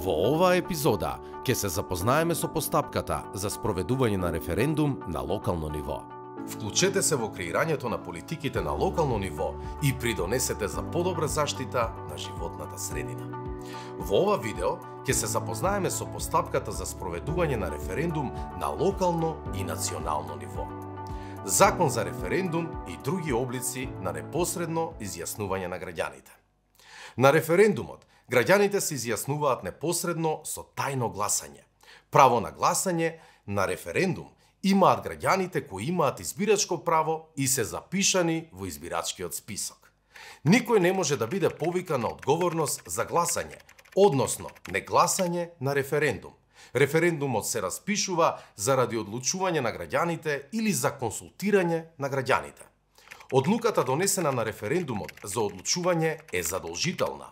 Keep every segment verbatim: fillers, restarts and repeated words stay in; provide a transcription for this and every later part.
Во оваа епизода ќе се запознаеме со постапката за спроведување на референдум на локално ниво. Вклучете се во креирањето на политиките на локално ниво и придонесете за подобра заштита на животната средина. Во ова видео ќе се запознаеме со постапката за спроведување на референдум на локално и национално ниво. Закон за референдум и други облици на непосредно изјаснување на граѓаните. На референдумот, граѓаните се изјаснуваат непосредно со тајно гласање. Право на гласање на референдум имаат граѓаните кои имаат избирачко право и се запишани во избирачкиот список. Никој не може да биде повикан на одговорност за гласање, односно негласање на референдум. Референдумот се распишува заради одлучување на граѓаните или за консултирање на граѓаните. Одлуката донесена на референдумот за одлучување е задолжителна.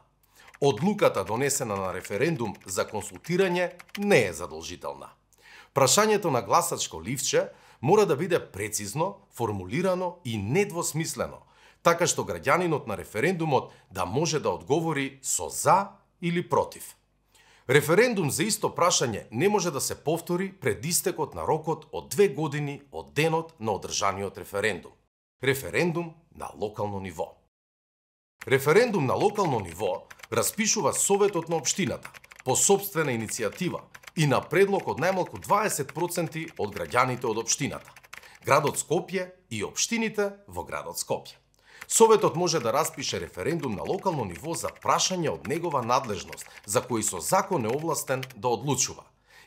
Одлуката донесена на референдум за консултирање не е задолжителна. Прашањето на гласачко ливче мора да биде прецизно, формулирано и недвосмислено, така што граѓанинот на референдумот да може да одговори со за или против. Референдум за исто прашање не може да се повтори пред истекот на рокот од две години од денот на одржаниот референдум. Референдум на локално ниво. Референдум на локално ниво распишува Советот на општината по сопствена иницијатива и на предлог од најмалку дваесет проценти од граѓаните од општината, градот Скопје и општините во градот Скопје. Советот може да распише референдум на локално ниво за прашање од негова надлежност, за кои со закон е овластен да одлучува.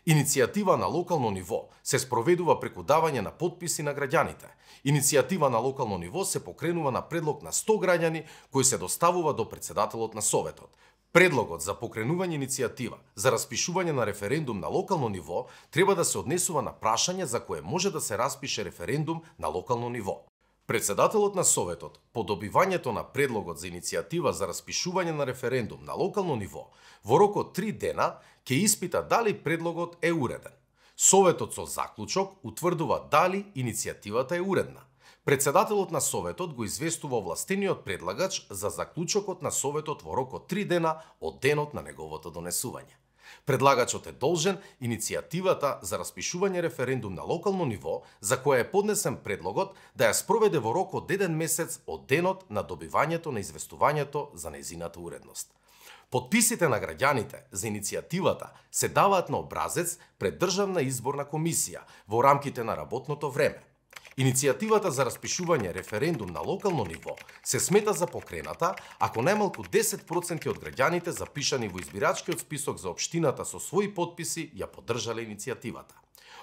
Иницијатива на локално ниво се спроведува преку давање на потписи на граѓаните. Иницијатива на локално ниво се покренува на предлог на сто граѓани кои се доставува до председателот на Советот. Предлогот за покренување иницијатива за распишување на референдум на локално ниво треба да се однесува на прашање за кое може да се распише референдум на локално ниво. Председателот на Советот, по добивањето на предлогот за иницијатива за распишување на референдум на локално ниво, во рок од три дена ќе испита дали предлогот е уреден. Советот со заклучок утврдува дали иницијативата е уредна. Председателот на Советот го известува овластениот предлагач за заклучокот на Советот во рок од три дена од денот на неговото донесување. Предлагачот е должен иницијативата за распишување референдум на локално ниво, за која е поднесен предлогот, да ја спроведе во рок од еден месец од денот на добивањето на известувањето за нејзината уредност. Потписите на граѓаните за иницијативата се даваат на образец пред Државна изборна комисија во рамките на работното време. Иницијативата за распишување референдум на локално ниво се смета за покрената ако најмалку десет проценти од граѓаните запишани во избирачкиот список за општината со своји потписи ја поддржале иницијативата.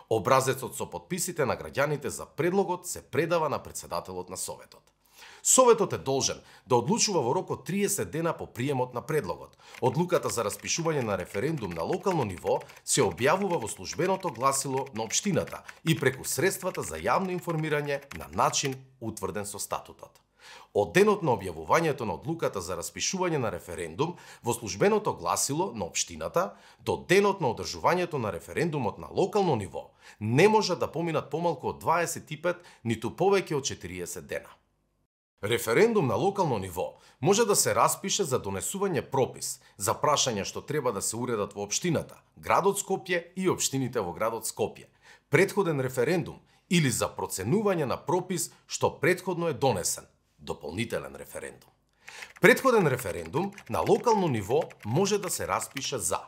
Образецот со потписите на граѓаните за предлогот се предава на председателот на Советот. Советот е должен да одлучува во рок од триесет дена по приемот на предлогот. Одлуката за распишување на референдум на локално ниво се објавува во службеното гласило на општината и преку средствата за јавно информирање на начин утврден со статутот. Од денот на објавувањето на одлуката за распишување на референдум во службеното гласило на општината до денот на одржувањето на референдумот на локално ниво не може да поминат помалку од дваесет и пет ниту повеќе од четириесет дена. Референдум на локално ниво може да се распише за донесување пропис за прашања што треба да се уредат во општината, градот Скопје и општините во градот Скопје, претходен референдум или за проценување на пропис што претходно е донесен, дополнителен референдум. Претходен референдум на локално ниво може да се распише за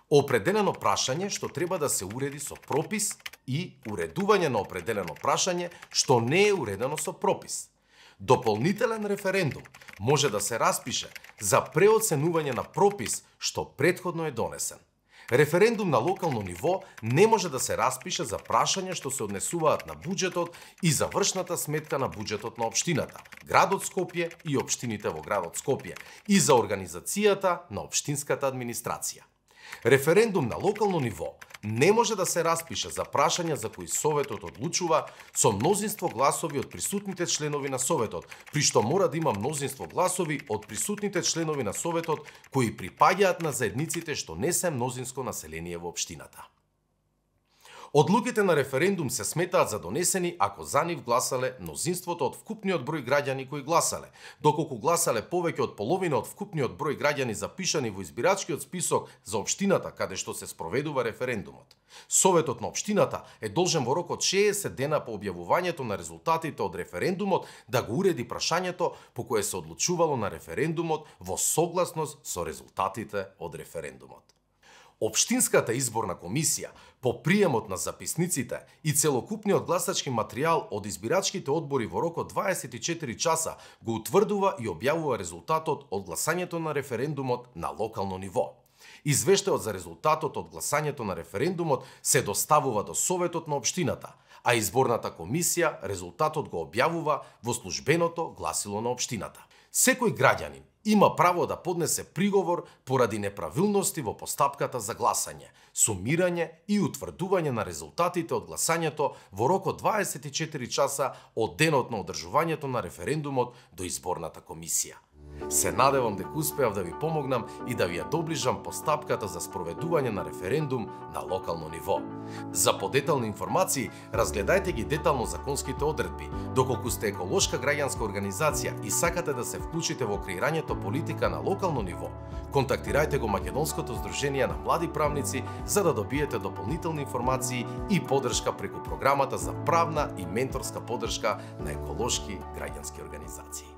определено прашање што треба да се уреди со пропис и уредување на определено прашање што не е уредено со пропис. Дополнителен референдум може да се распише за преоценување на пропис што претходно е донесен. Референдум на локално ниво не може да се распише за прашања што се однесуваат на буџетот и завршната сметка на буџетот на општината, градот Скопје и општините во градот Скопје и за организацијата на општинската администрација. Референдум на локално ниво не може да се распише за прашања за кои Советот одлучува со мнозинство гласови од присутните членови на Советот, при што мора да има мнозинство гласови од присутните членови на Советот кои припаѓаат на заедниците што не се мнозинско население во општината. Одлуките на референдум се сметаат за донесени ако за нив гласале мнозинството од вкупниот број граѓани кои гласале, доколку гласале повеќе од половина од вкупниот број граѓани запишани во избирачкиот список за општината каде што се спроведува референдумот. Советот на општината е должен во рок од шеесет дена по објавувањето на резултатите од референдумот да го уреди прашањето по кое се одлучувало на референдумот во согласност со резултатите од референдумот. Општинската изборна комисија по приемот на записниците и целокупниот гласачки материјал од избирачките одбори во рок од дваесет и четири часа го утврдува и објавува резултатот од гласањето на референдумот на локално ниво. Извештајот за резултатот од гласањето на референдумот се доставува до Советот на општината, а изборната комисија резултатот го објавува во службеното гласило на општината. Секој граѓанин има право да поднесе приговор поради неправилности во постапката за гласање, сумирање и утврдување на резултатите од гласањето во рок од дваесет и четири часа од денот на одржувањето на референдумот до изборната комисија. Се надевам дека успеав да ви помогнам и да ви ја доближам постапката за спроведување на референдум на локално ниво. За подетални информации, разгледајте ги детално законските одредби. Доколку сте еколошка граѓанска организација и сакате да се вклучите во креирањето политика на локално ниво, контактирајте го Македонското здружение на млади правници за да добиете дополнителни информации и поддршка преку програмата за правна и менторска поддршка на еколошки граѓански организации.